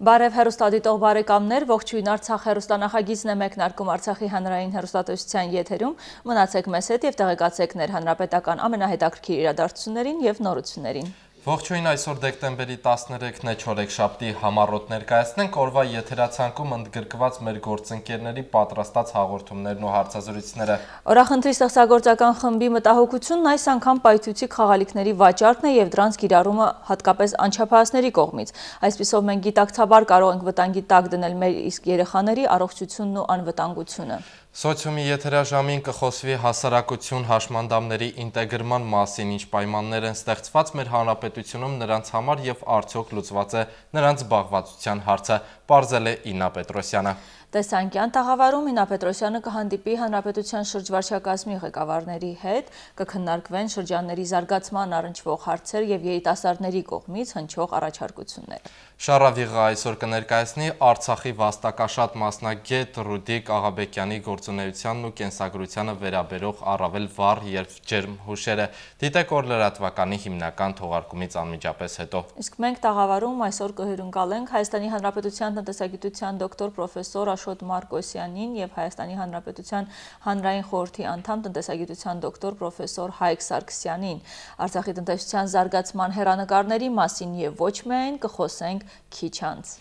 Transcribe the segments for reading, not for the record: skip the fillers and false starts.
Բարև հեռուստադիտող բարեկամներ, ողջույն Արցախ հեռուստանախագիծն է մեկնարկում Արցախի հանրային հեռուստատեսության եթերում, մնացեք մեզ հետ և տեղեկացեք ներհանրապետական ամենահետաքրքիր իրադարձություններին և նորություններին։ Ողջույն, այսօր դեկտեմբերի 13-ն է չորեքշաբթի համառոտ ներկայացնենք օրվա եթերացանկում ընդգրկված մեր գործընկերների պատրաստած հաղորդումներն ու հարցազրույցները։ Օրախնդրի ստեղծագործական խմբի մտահոգությունն այս անգամ պայթուցիկ խաղալիքների վաճառքն է և դրանց կիրառումը հատկապես անչափահասների կողմից։ Այսպիսով մենք գիտակցաբար կարող ենք վտանգի տակ դնել մեր իսկ երեխաների առողջությունն ու անվտանգությունը։ Սոցիումի եթերաժամին կխոսվի հասարակություն հաշմանդամների ինտեգրման մասին, ինչ պայմաններ են ստեղծված մեր հանրապետությունում նրանց համար և արդյոք լուծված է նրանց զբաղվածության հարցը, պարզել է Իննա Պետրոսյանը։ Տեսանկյան տաղավարում Իննա Պետրոսյանը կհանդիպի հանրապետության շրջվարչակազմի ղեկավարների հետ, կքննարկվեն շրջանների զարգացման առնչվող հարցեր և երիտասարդների կողմից հնչող առաջարկություններ։ Շարավիղը այսօր կներկայացնի Արցախի վաստակաշատ մասնագետ Ռուդիկ Աղաբեկյանի գործունեությանն ու կենսագրությանը վերաբերող առավել վառ և ջերմ հուշերը, դիտեք օր լրատվականի հիմնական թողարկումից անմիջապես հետո։ Իսկ մենք տաղավարում այսօր կհյուրընկալենք Հայաստանի Հանրապետության տնտեսագիտության դոկտոր պրոֆեսոր Աշոտ Մարկոսյանին և Հայաստանի Հանրապետության հանրային խորհրդի անդամ տնտեսագիտության դոկտոր պրոֆեսոր Հայկ Սարգսյանին։ Արցախի տնտեսության զարգացման հեռանկարների մասին և ոչ միայն կխոսենք քիչ անց։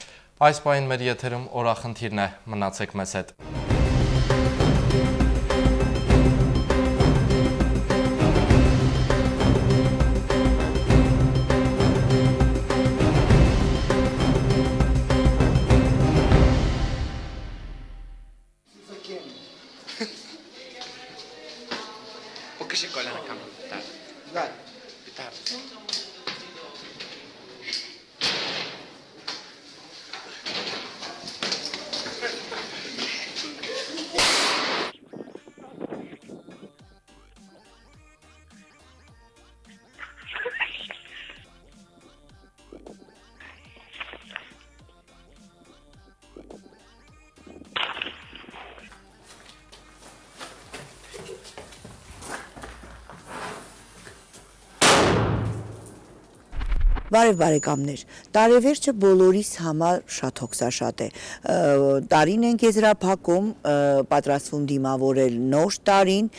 Այս պահին մեր եթերում օրախնդիրն է, մնացեք մեզ հետ։ Բարև բարեկամներ, տարեվերջը բոլորիս համար շատ հոգսաշատ է, տարին ենք եզրափակում, պատրաստվում դիմավորել նոր տարին,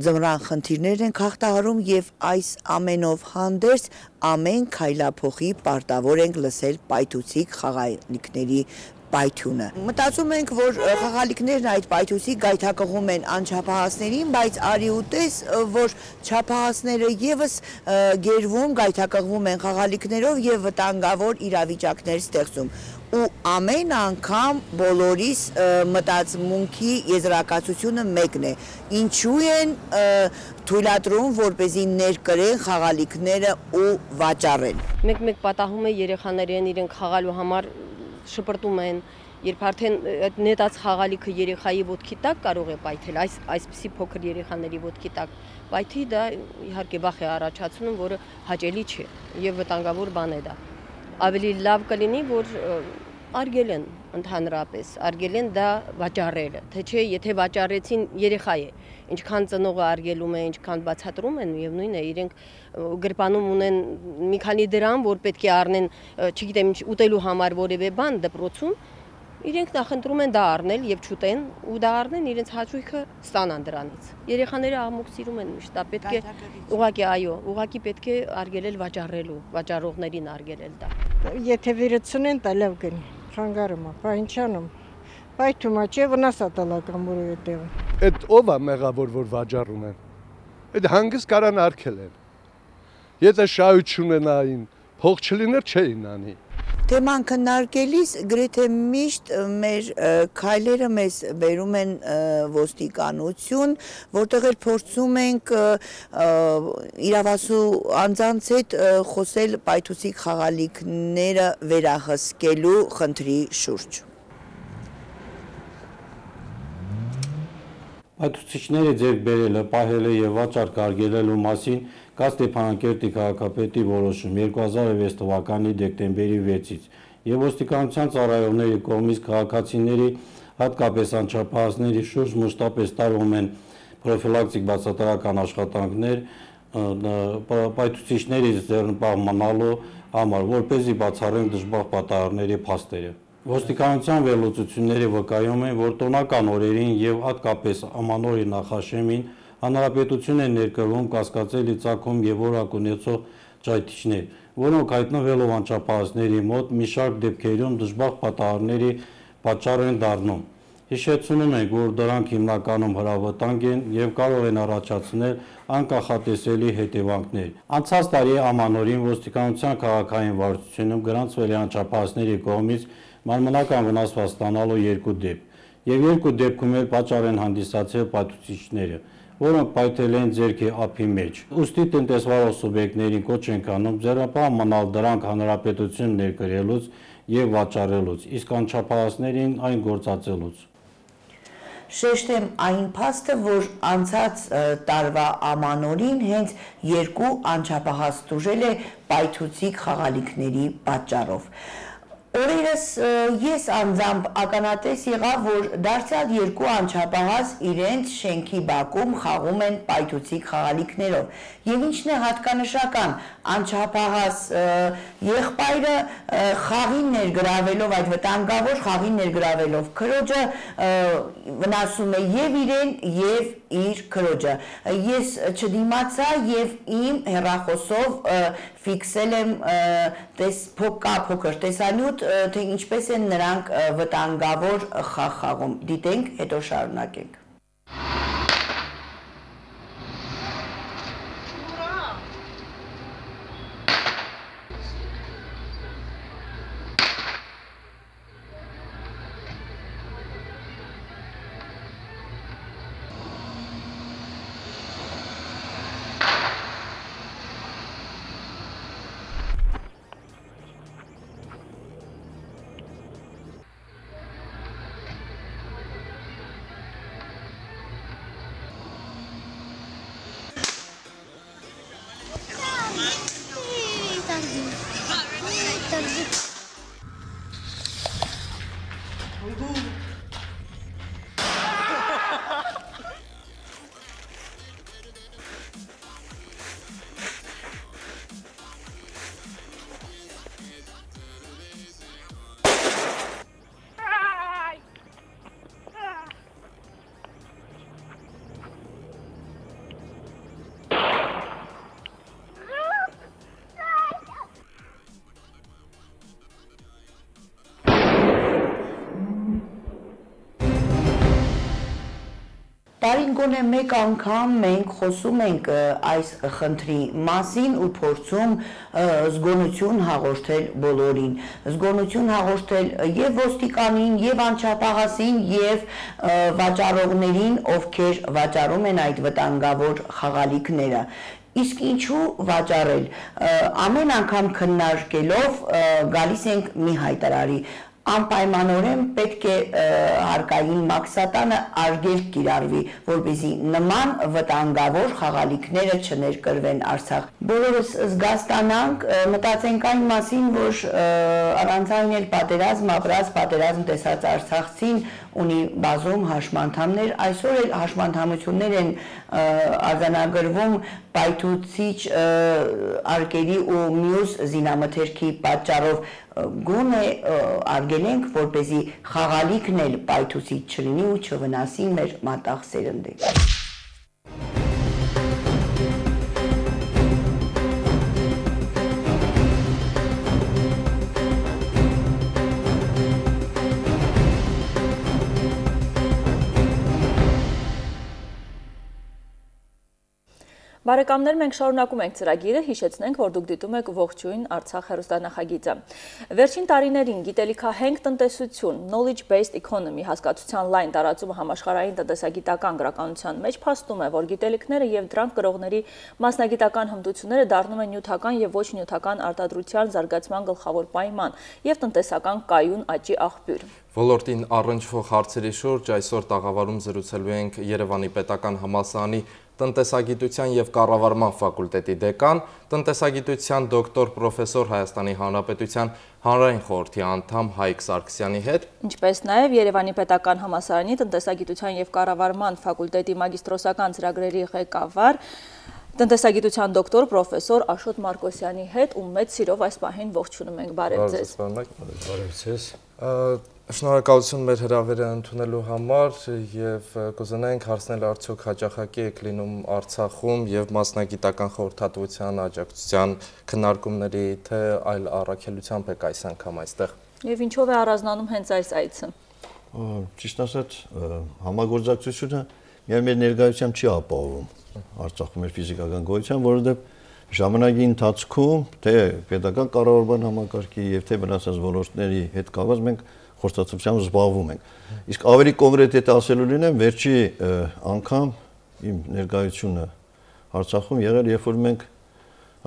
ձմռան խնդիրներ ենք հաղթահարում և այս ամենով հանդերձ ամեն քայլափոխի պարտավոր ենք լսել պայթուցիկ խաղալիքների պայթյունը։ Մտածում ենք, որ խաղալիքներն այդ պայթուցիկ գայթակղում են անչափահասներին, բայց արի ու տես, որ չափահասները ևս գերվում, գայթակղվում են խաղալիքներով և վտանգավոր իրավիճակներ ստեղծում։ Ու ամեն անգամ բոլորիս մտածմունքի եզրակացությունը մեկն է, ինչու են թույլատրում, որպեսզի ներկրեն խաղալիքները ու վաճառեն։ Մեկ պատահում է երեխաներին իրենք խաղալու համար շպրտում են, երբ արդեն նետած խաղալիքը երեխայի ոտքի տակ կարող է պայթել, այսպիսի փոքր երեխաների ոտքի տակ պայթի, դա իհարկե վախ է առաջացնում, որը հաճելի չէ և վտանգավոր բան է դա։ Ավելի լավ կլինի, որ արգելեն ընդհանրապես, արգելեն դա վաճառելը, թե չէ, եթե վաճառեցին երեխա է, ինչքան ծնողը արգելում է, ինչքան բացատրում են, միևնույն է, իրենք գրպանում ունեն մի քանի դրամ, որ պետք է առնեն, չգիտեմ, ուտելու համար որևէ բան դպրոցում, իրենք նախընտրում են դա առնել և չուտեն ու դա առնեն իրենց հաճույքը ստանան դրանից։ Երեխաները աղմուկ սիրում են միշտ, դա պետք է ուղղակի այո, ուղղակի պետք է արգելել վաճառելու, վաճառողներին արգելել դա։ Եթե վերցնեն, դա լավ կնի, խանգարում է, պահինչանում, պայթում է, չէ վնաս է տալական որևէ։ Այդ ով է մեղավոր, որ վաճառում են։ Այդ հանգիստ կարան արգելեն։ Եթե շահություն ունենային, փող չլիներ չէին անի։ Թեման քննարկելիս գրեթե միշտ մեր քայլերը մեզ բերում են ոստիկանություն, որտեղ էլ փորձում ենք իրավասու անձանց հետ խոսել պայթուցիկ խաղալիքները վերահսկելու խնդրի շուրջ։ Պայթուցիչների ձեռք բերելը, պահելը և վաճառք արգելելու մասին կա Ստեփանակերտի քաղաքապետի որոշում 2006 թվականի դեկտեմբերի 6-ից և ոստիկանության ծառայողների կողմից քաղաքացիների, հատկապես անչափահասների շուրջ մշտապես տարվում են պրոֆիլակտիկ բացատրական աշխատանքներ, պայթուցիչներից ձեռնպահ մնալու համար, որպեսզի բացառեն դժբախտ պատահարների փաստերը։ Ոստիկանության վերլուծությունները վկայում են, որ տոնական օրերին եւ հատկապես ամանորի նախաշեմին հանրապետություն են ներկրվում կասկածելի ծագում եւ որակ ունեցող ճայթիչներ, որոնք հայտնվելով անչափահասների մոտ մի շարք դեպքերում դժբախտ պատահարների պատճառ են դառնում։ Հիշեցնում ենք, որ դրանք հիմնականում հրավտանգ են եւ կարող են առաջացնել անկախատեսելի հետևանքներ։ Անցած տարի ամանորին ոստիկանության քաղաքային վարչությունում գրանցվել է անչափահասների կողմից մարմնական վնասված ստանալու 2 դեպք, եւ 2 դեպքում էլ պատճառ են հանդիսացել պայթուցիչները, որոնք պայթել են ձեռքի ափի մեջ։ Ուստի տնտեսվարող սուբյեկտներին կոչ ենք անում ձեռնպահ մնալ դրանք հանրապետություն ներկրելուց եւ վաճառելուց, իսկ անչափահասներին այն գործածելուց։ Շեշտեմ այն փաստը, որ անցած տարվա ամանորին հենց 2 անչափահաս տուժել է պայթուցիկ խաղալիքների պատճառով։ Օրերս ես անձամբ ականատես եղա, որ դարձյալ 2 անչափահաս իրենց շենքի բակում խաղում են պայթուցիկ խաղալիքներով։ Եվ ինչն է հատկանշական, անչափահաս եղբայրը խաղին ներգրավելով, այդ վտանգավոր խաղին ներգրավելով քրոջը վնասում է եւ իրեն եւ իր քրոջը։ Ես չդիմացա եւ իմ հեռախոսով ֆիքսել եմ փոքր տեսանյութ, թե ինչպես են նրանք վտանգավոր խաղ խաղում։ Դիտենք, հետո շարունակենք։ Տարին գոնե մեկ անգամ մենք խոսում ենք այս խնդրի մասին ու փորձում զգոնություն հաղորդել բոլորին, զգոնություն հաղորդել եւ ոստիկանին, եւ անչափահասին, եւ վաճառողներին, ովքեր վաճառում են այդ վտանգավոր խաղալիքները։ Իսկ ինչու վաճառել։ Ամեն անգամ քննարկելով գալիս ենք մի հայտարարի։ Անպայմանորեն պետք է հարկային մաքսատանը արգելք կիրառվի, որպեսզի նման վտանգավոր խաղալիքները չներկրվեն Արցախ։ Բոլորս զգաստանանք, մտածենք այն մասին, որ առանց այն էլ պատերազմ ապրած, պատերազմ տեսած արցախցին ունի բազում հաշմանդամներ, այսօր էլ հաշմանդամություններ են արձանագրվում պայթուցիչ արկերի ու մյուս զինամթերքի պատճառով, գոնե արգելենք, որպեսզի խաղալիքն էլ պայթուցիչ չլինի ու չվնասի մեր մատաղ սերնդին։ Բարեկամներ, մենք շարունակում ենք ծրագիրը, հիշեցնենք, որ դուք դիտում եք ողջույն Արցախ հեռուստանախագիծը։ Վերջին տարիներին գիտելիքահենք տնտեսություն, knowledge-based economy հասկացության լայն տարածումը համաշխարհային տնտեսագիտական գրականության մեջ փաստում է, որ գիտելիքները եւ դրանք կրողների մասնագիտական հմտությունները դառնում են նյութական եւ ոչ նյութական արտադրության զարգացման գլխավոր պայման եւ տնտեսական կայուն աճի աղբյուր։ Ոլորտին առնչվող հարցերի շուրջ այսօր տաղավարում զրուցելու ենք Երևանի պետական համալսարանի տնտեսագիտության եւ կառավարման ֆակուլտետի դեկան, տնտեսագիտության դոկտոր պրոֆեսոր Հայաստանի Հանրապետության հանրային խորհրդի անդամ Հայկ Սարգսյանի հետ, ինչպես նաեւ Երևանի պետական համալսարանի տնտեսագիտության եւ կառավարման ֆակուլտետի մագիստրոսական ծրագրերի ղեկավար Տնտեսագիտության դոկտոր պրոֆեսոր Աշոտ Մարկոսյանի հետ, ում մեծ սիրով այս պահին ողջունում ենք, բարև ձեզ։ Բարև ձեզ։ Շնորհակալություն մեր հրավերը ընդունելու համար եւ կուզենայինք հարցնել արդյոք հաճախակի եք լինում Արցախում եւ մասնագիտական խորհրդատվության աջակցության քննարկումների թե այլ առաքելությամբ եք այս անգամ այստեղ։ Եվ ինչով է առանձնանում հենց այս այցը։ Ճիշտ ասած, համագործակցությունը միայն մեր ներկայությամբ չի ապահովում Արցախում մեր ֆիզիկական գոյության, որովհետեւ ժամանակի ընթացքում թե պետական կառավարման համակարգի եւ թե մնացած ոլորտների հետ կապված մենք խորհրդատվությամբ զբաղվում ենք։ Իսկ ավելի կոնկրետ եթե ասելու լինեմ, վերջի անգամ իմ ներկայությունը Արցախում եղել, երբ որ մենք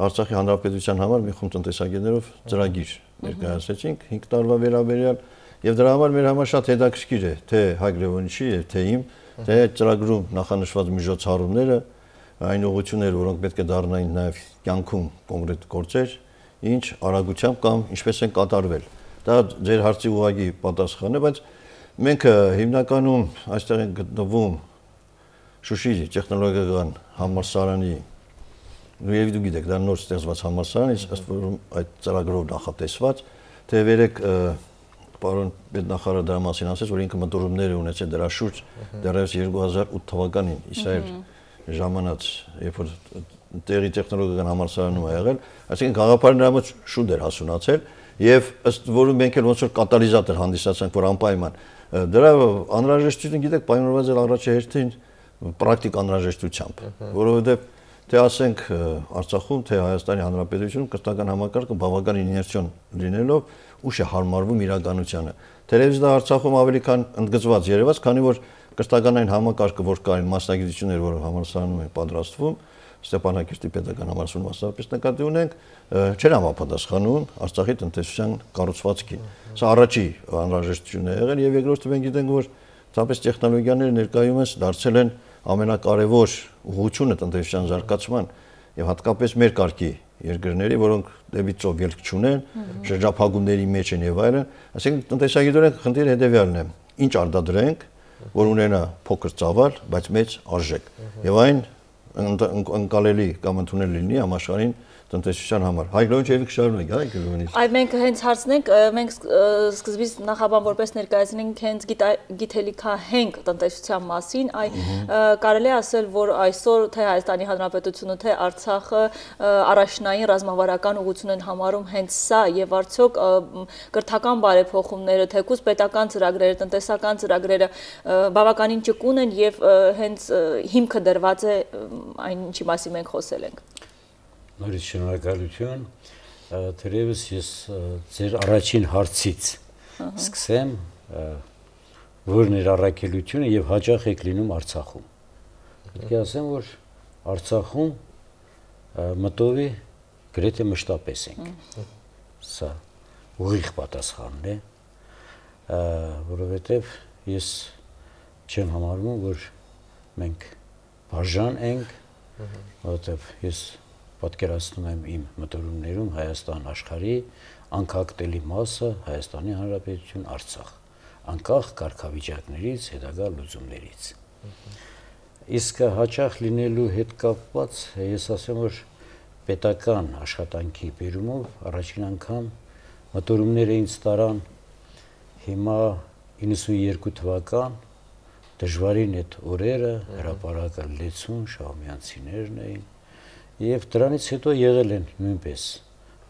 Արցախի հանրապետության համար մի խումբ տնտեսագետներով ծրագիր ներկայացրեցինք 5 տարվա վերաբերյալ եւ դրա համար մեր համար շատ հետաքրքիր է թե Հայկ Լևոնիչի եւ թե իմ թե ծրագրում նախանշված միջոցառումները այն ուղղությունները, որոնք պետք է դառնային նաեւ կյանքում կոնկրետ գործեր, ինչ արագությամբ կամ ինչպես են կատարվել։ Դա ձեր հարցի ուղղակի պատասխանն է, բայց մենք հիմնականում այստեղ ենք գտնվում Շուշիի տեխնոլոգիական համալսարանի եւ դուք գիտեք, դա նոր ստեղծված համալսարան է, ըստ որում այդ ծրագրով նախատեսված, թե վերեք պարոն պետնախարարը դրա մասին ասեց, որ ինքը մտորումներ է ունեցել դրա շուրջ դեռևս 2008 թվականին Իսրայել ժամանած, երբ որ տեղի տեխնոլոգիական համալսարանում ա եղել, այսինքն գաղափարը նրա մոտ շուտ էր հասունացել եւ ըստ որում մենք էլ ոնց որ կատալիզատոր հանդիսացանք, որ անպայման դրա անհրաժեշտությունը գիտեք պայմանավորված է առաջի հերթին պրակտիկ անհրաժեշտությամբ, որովհետեւ թե ասենք Արցախում, թե Հայաստանի Հանրապետությունում կրթական համակարգը բավականին իներցիոն լինելով ուշ է հարմարվում իրականությանը։ Թերևս դա Արցախում ավելի քան ընդգծված երևաց, քանի որ կրթական այն համակարգը, որ կային մասնագիտություններ, որը համալսարանում են պատրաստվում, Ստեփանակերտի պետական համալսարանում մասնավորապես նկատի ունենք, չեն համապատասխանում Արցախի տնտեսության կառուցվածքին։ Սա առաջի անհրաժեշտությունն է եղել եւ երկրորդը մենք գիտենք, որ ցապես տեխնոլոգիաները ներկայումս դարձել են ամենակարևոր ուղղությունը տնտեսության զարգացման եւ հատկապես մեր կարգի երկրների, որոնք դեբիտով ելք չունեն, շրջափակումների մեջ են եւ այլն, այսինքն տնտեսագիտորեն խնդիրը հետեւյալն է. ինչ արտադրենք, որ ունենա փոքր ծավալ, բայց մեծ արժեք եւ այն ընկալելի կամ ընդունելի լինի համաշխարհային տնտեսության համար։ Հայկ Լևոնիչը շարունակ, Հայկ Լևոնիչ։ Այ մենք հենց հարցնենք, մենք սկզբից նախաբան որպես ներկայացնենք հենց գիտելիքահենք տնտեսության մասին, կարելի է ասել, որ այսօր թե Հայաստանի Հանրապետությունը, թե Արցախը առաջնային ռազմավարական ուղղություն են համարում հենց սա եւ արդյոք կրթական բարեփոխումները, թեկուզ պետական ծրագրերը, տնտեսական ծրագրերը բավականին ճկուն են եւ հենց հիմքը դրված է այն ինչի մասին մենք խոսել ենք։ Նորից շնորհակալություն, թերևս ես ձեր առաջին հարցից սկսեմ, որն էր առաքելությունը եւ հաճախ եք լինում Արցախում։ Պետք է ասեմ, որ Արցախում մտովի գրեթե մշտապես ենք։ Սա ուղիղ պատասխանն է, որովհետեւ ես չեմ համարում, որ մենք բաժան ենք, որովհետեւ ես պատկերացնում եմ իմ մտորումներում Հայաստան աշխարհի անկախտելի մասը Հայաստանի Հանրապետություն Արցախ, անկախ կարգավիճակներից, հետագա լուծումներից։ Իսկ հաճախ լինելու հետ կապված ես ասեմ, որ պետական աշխատանքի բերումով առաջին անգամ մտորումները ինձ տարան հիմա 92 թվական դժվարին այդ օրերը հրապարակը լեցուն շահումյանցիներն էին եւ դրանից հետո եղել են նույնպես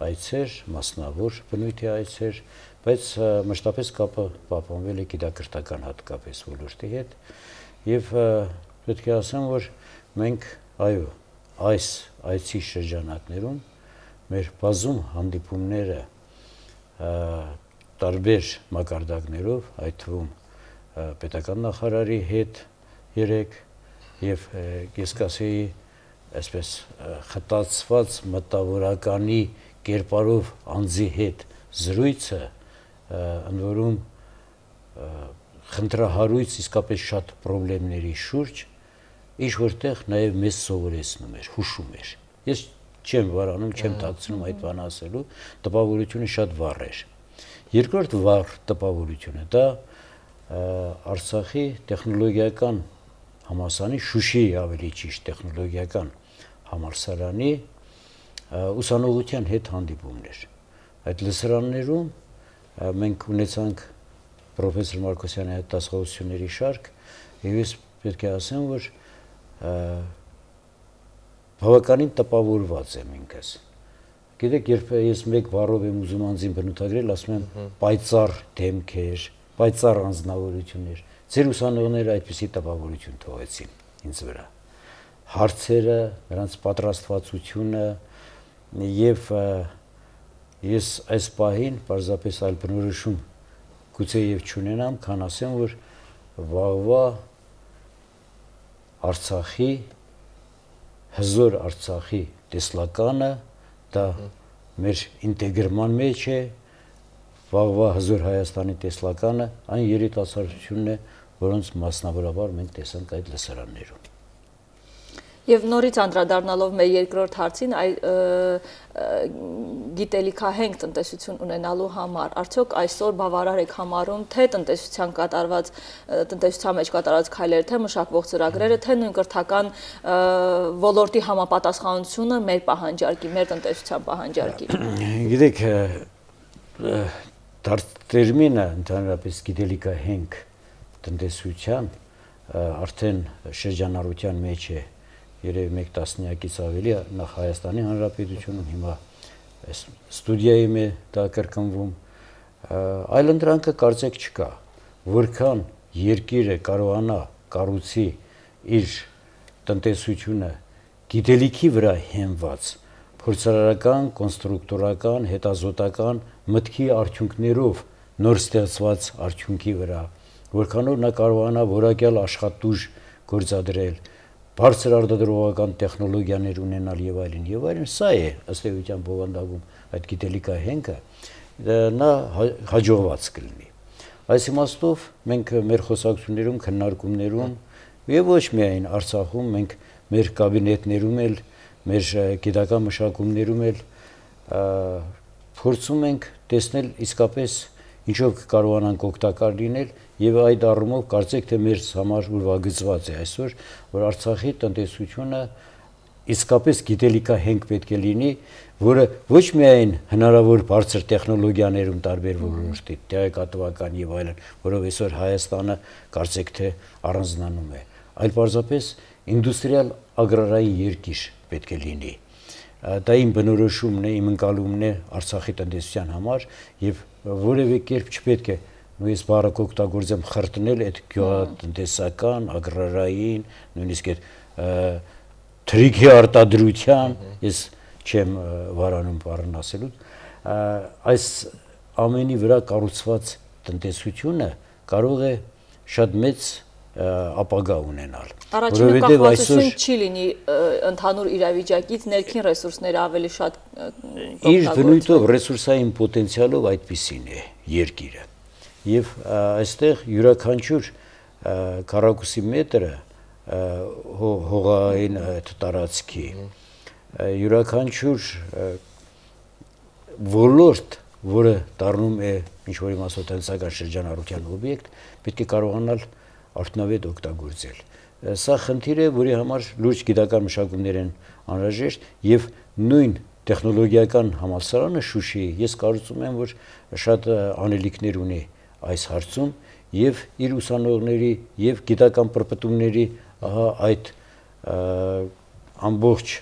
այցեր, մասնավոր բնույթի այցեր, բայց մշտապես կապը պահպանվել է գիտակրթական հատկապես ոլորտի հետ եւ պետք է ասեմ, որ մենք այո, այս այցի շրջանակներում մեր բազում հանդիպումները տարբեր մակարդակներով, այդ թվում պետական նախարարի հետ 3 եւ ես կասեի այսպես խտացված մտավորականի կերպարով անձի հետ զրույցը ընդ որում խնդրահարույց իսկապես շատ խնդիրների շուրջ ինչ որտեղ նաև մեզ սովորեցնում էր, հուշում էր։ Ես չեմ վարանում, չեմ թաքցնում այդ բանը ասելու, տպավորությունը շատ վառ էր։ Երկրորդ վառ տպավորությունը դա Արցախի տեխնոլոգիական համալսարանի Շուշիի ավելի ճիշտ տեխնոլոգիական համալսարանի ուսանողության հետ հանդիպումներ։ Այդ լսարաններում մենք ունեցանք պրոֆեսոր Մարկոսյանի հետ դասախոսությունների շարք, եւ ես պետք է ասեմ, որ բավականին տպավորված եմ ինքս։ Գիտեք, երբ ես մեկ բառով եմ ուզում անձին բնութագրել, ասում եմ պայծառ դեմքեր, պայծառ անձնավորություններ։ Ձեր ուսանողները այդպիսի տպավորություն թողեցին ինձ վրա։ Հարցերը, նրանց պատրաստվածությունը եւ ես այս պահին պարզապես այլ բնորոշում գուցե եւ չունենամ, քան ասեմ, որ վաղվա Արցախի հզոր Արցախի տեսլականը դա մեր ինտեգրման մեջ է, վաղվա հզոր Հայաստանի տեսլականը այն երիտասարդությունն է, որոնց մասնավորաբար մենք տեսանք այդ լսարաններում։ Եվ նորից անդրադառնալով մեր երկրորդ հարցին, գիտելիքահենք տնտեսություն ունենալու համար, արդյոք այսօր բավարար եք համարում թե տնտեսության մեջ կատարած քայլերը, թե մշակվող ծրագրերը, թե նույն կրթական ոլորտի համապատասխանությունը մեր պահանջարկի, մեր տնտեսության պահանջարկի։ Գիտեք, տերմինը ընդհանրապես գիտելիքահենք տնտեսության արդեն շրջանառության մեջ է երևի մեկ տասնյակից ավելի, նախ Հայաստանի Հանրապետությունում, հիմա ստուդիայում է դա կրկնվում, այլընտրանքը կարծեք չկա, որքան երկիրը կարողանա կառուցի իր տնտեսությունը գիտելիքի վրա հենված, փորձարարական, կոնստրուկտորական, հետազոտական մտքի արդյունքներով նոր ստեղծված արդյունքի վրա, որքանով նա կարողանա որակյալ աշխատուժ գործադրել, բարձր արտադրողական տեխնոլոգիաներ ունենալ եւ այլն, սա է ըստ էության բովանդակում այդ գիտելիքահենքը, նա հաջողված կլինի։ Այս իմաստով մենք մեր խոսակցություններում, քննարկումներում եւ ոչ միայն Արցախում, մենք մեր կաբինետներում էլ, մեր գիտական մշակումներում էլ փորձում ենք տեսնել իսկապես ինչով կարողանանք օգտակար լինել եւ այդ առումով կարծեք թե մեր համար ուրվագծված է այսօր, որ Արցախի տնտեսությունը իսկապես գիտելիքահենք պետք է լինի, որը ոչ միայն հնարավոր բարձր տեխնոլոգիաներում տարբեր ոլորտի, տեղեկատվական եւ այլն, որով այսօր Հայաստանը կարծեք թե առանձնանում է, այլ պարզապես ինդուստրիալ ագրարային երկիր պետք է լինի։ Դա իմ բնորոշումն է, իմ ընկալումն է Արցախի տնտեսության համար եւ որևէ կերպ չպետք է նույնիսկ բառը օգտագործեմ խրտնել այդ գյուղատնտեսական, ագրարային, նույնիսկ այդ թրիքի արտադրության, ես չեմ վարանում բառն ասելու, այս ամենի վրա կառուցված տնտեսությունը կարող է շատ մեծ ապագա ունենալ։ Առաջինը կախվածություն չի լինի ընդհանուր իրավիճակից, ներքին ռեսուրսները ավելի շատ իր բնույթով ռեսուրսային պոտենցիալով այդպիսին է երկիրը։ Եվ այստեղ յուրաքանչյուր քառակուսի մետրը հողային տարածքի, յուրաքանչյուր ոլորտ, որը դառնում է ինչ-որ իմաստով տնտեսական շրջանառության օբյեկտ, պետք է կարողանալ արդյունավետ օգտագործել։ Սա խնդիր է, որի համար լուրջ գիտական մշակումներ են անհրաժեշտ եւ նույն տեխնոլոգիական համալսարանը Շուշիի ես կարծում եմ, որ շատ անելիքներ ունի այս հարցում եւ իր ուսանողների եւ գիտական պրպտումների այդ ամբողջ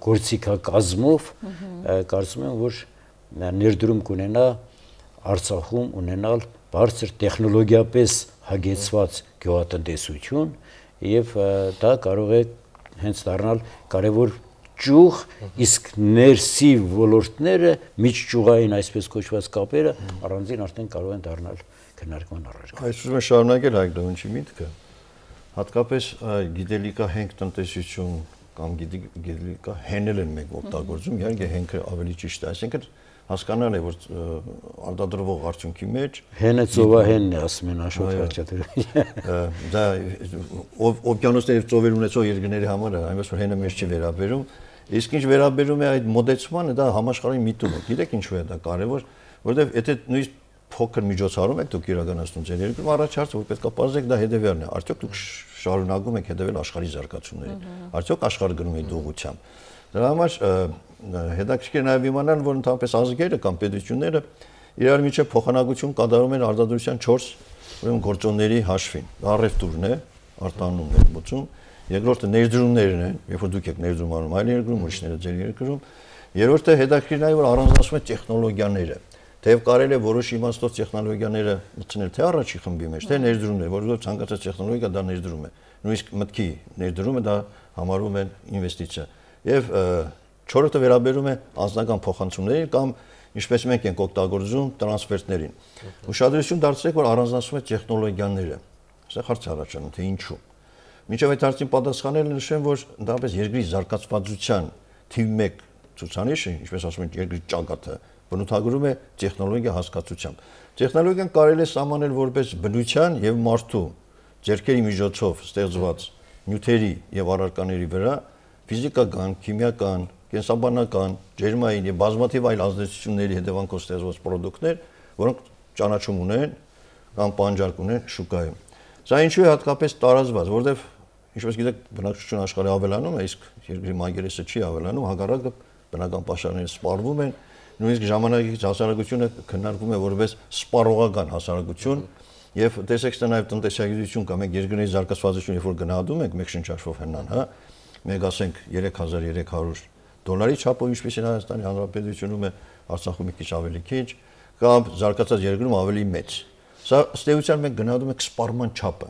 գործիքակազմով կարծում եմ, որ ներդրում կունենա Արցախում ունենալ բարձր տեխնոլոգիապես հագեցված գյուղատնտեսություն եւ դա կարող է հենց դառնալ կարևոր ճյուղ, իսկ ներսի ոլորտները միջճյուղային այսպես կոչված կապերը առանձին արդեն կարող են դառնալ քննարկման առարկա։ Այս ուզում եմ շարունակել Հայկ Դավնչի միտքը, հատկապես գիտելիքահենք տնտեսություն կամ գիտելիքահենել են մենք օգտագործում, իհարկե հենքը ավելի ճիշտ է, այսինքն հասկանալ է, որ արտադրվող արդյունքի մեջ հենը ծովահենն է, ասում են Աշոտ Խաչատրյանը։ Դա օվկիանոսների ծովեր ունեցող երկրների համար է, այնպես որ հենը մեզ չի վերաբերում, իսկ ինչ վերաբերում է այդ մոդեցմանը, դա համաշխարհային միտում է։ Գիտեք ինչու է դա կարևոր, որովհետև եթե նույնիսկ փոքր միջոցառում եք դուք իրականացնում ձեր երկրում, առաջ հարցը որ պետք է բարձեք դա հետևյալն է, արդյոք դուք շարունակում եք հետևել աշխարհի զարգացումներին, արդյոք աշխարհը գնում է ուղղությամբ։ Դրա համար հետաքրքիր նաև իմանալ, որ ընդհանրապես ազգերը կամ պետությունները իրար միջև փոխանակություն կատարում են արտադրության 4 ուրեմն գործոնների հաշվին։ Առևտուրն է, արտահանում ներմուծում, երկրորդը ներդրումներն են, երբ որ դուք եք ներդրում անում այլ երկրում, ուրիշները ձեր երկրում, երրորդը հետաքրքիր է, որ առանձնացում է տեխնոլոգիաները։ Թեև կարելի է որոշ իմաստով տեխնոլոգիաները մտցնել թե առաջի խմբի մեջ, թե ներդրումներ, որովհետև ցանկացած տեխնոլոգիա դա ներդրում է։ Նույնիսկ մտքի ներդրումը դա համարվում է ինվեստիցիա։ Եվ չորրորդը վերաբերում է անձնական փոխանցումներին կամ ինչպես մենք ենք օգտագործում տրանսֆերտներին։ Ուշադրություն դարձրեք, որ առանձնացում է տեխնոլոգիաները։ Սա հարց է առաջանում, թե ինչու։ Մինչև այդ հարցին պատասխանել նշեմ, որ ընդհանրապես երկրի զարգացվածության թիվ 1 ցուցանիշը, ինչպես ասում են, երկրի ճակատը բնութագրում է տեխնոլոգիա հասկացությամբ։ Տեխնոլոգիան կարելի է սահմանել որպես բնության եւ մարդու ձեռքերի միջոցով ստեղծված նյութերի եւ առարկաների վրա ֆիզիկական, քիմիական, կենսաբանական, ջերմային եւ բազմաթիվ այլ ազդեցությունների հետևանքով ստեղծված ապրանքներ, որոնք ճանաչում ունեն կամ պահանջարկ ունեն շուկայում։ Սա ինչու է հատկապես տարածված, որովհետեւ ինչպես գիտեք, բնակչություն աշխարհի ավելանում է, իսկ երկրի մակերեսը չի ավելանում, հակառակը բնական պաշարները սպառվում են, նույնիսկ ժամանակակից հասարակությունը քննարկվում է որպես սպառողական հասարակություն, եւ տեսեք, դա նաեւ տնտեսագիտություն կամ մենք երկրների զարգացվածություն, երբ որ գնահատում ենք մեկ շնչաշվով հնան, հա, մենք ասենք $3300 չափով, ինչպես է Հայաստանի Հանրապետությունում է, Արցախում մի քիչ ավելի քիչ, կամ զարգացած երկրում ավելի մեծ։ Սա ըստ էության մենք գնահատում ենք սպառման չափը,